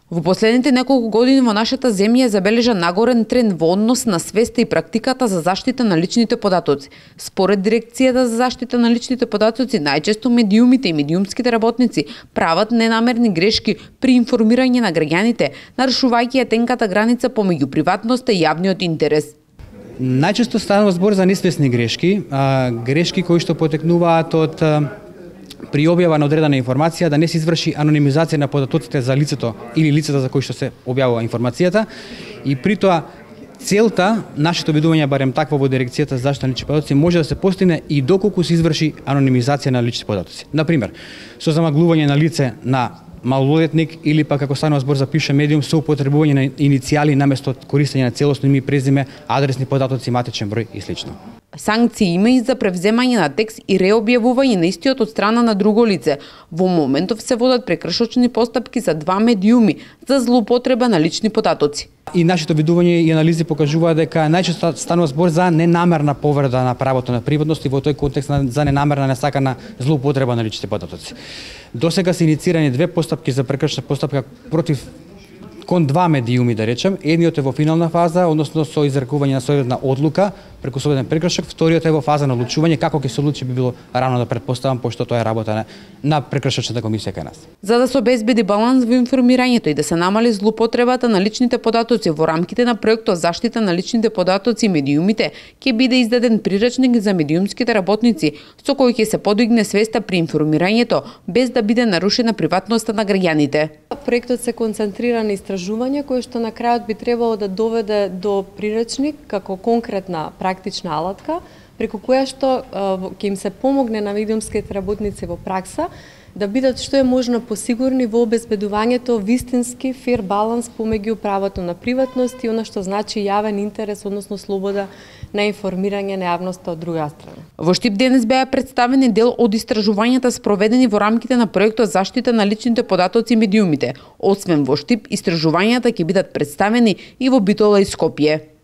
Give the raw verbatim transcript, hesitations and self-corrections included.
Во последните неколку години во нашата земја забележа нагорен тренд во однос на свеста и практиката за заштита на личните податоци. Според Дирекцијата за заштита на личните податоци, најчесто медиумите и медиумските работници прават ненамерни грешки при информирање на граѓаните, нарушувајќи ја тенката граница помеѓу приватноста и јавниот интерес. Најчесто станува збор за несвесни грешки, а, грешки кои што потекнуваат од при објава на одредена информација да не се изврши анонимизација на податоците за лицето или лицата за кои што се објавува информацијата, и при тоа целта, нашето видување барем такво во Дирекцијата за заштита на лични податоци, може да се постигне и доколку се изврши анонимизација на лични податоци. Например, со замаглување на лице на малолетник или пак ако станува збор за пише медиум со употребување на иницијали наместо користење на целосно име и презиме, адресни податоци, матичен број и слично. Санкции има и за превземање на текст и реобјавување на истиот од страна на друго лице. Во моментов се водат прекршочни постапки за два медиуми за злоупотреба на лични податоци. И нашето видување и анализи покажуваат дека најчесто станува збор за ненамерна повреда на правото на приватност и во тој контекст за ненамерна несакана злоупотреба на личните податоци. Досега се иницирани две постапки за прекршна постапка против кон два медиуми, да речем. Едниот е во финална фаза, односно со изрекување на соодветна одлука преку соодветен прекршок, вториот е во фаза на одлучување. Како ќе се одлучи би било рано да претпоставам, пошто тоа е работа на, на прекршочната комисија кај нас. За да се обезбеди баланс во информирањето и да се намали злоупотребата на личните податоци во рамките на проектот Заштита на личните податоци и медиумите, ќе биде издаден приречник за медиумските работници со кој ќе се подигне свеста при информирањето без да биде нарушена приватноста на граѓаните. Проектот се концентрира на истражување кој што на крајот би требало да доведе до приречник како конкретна практична алатка преку која што ќе им се помогне на медиумските работници во пракса да бидат што е можно посигурни во обезбедувањето вистински фер баланс помеѓу правото на приватност и она што значи јавен интерес, односно слобода на информирање на јавноста од друга страна. Во Штип денес беа представени дел од истражувањата спроведени во рамките на проектот Заштита на личните податоци и медиумите. Освен во Штип, истражувањата ќе бидат представени и во Битола и Скопје.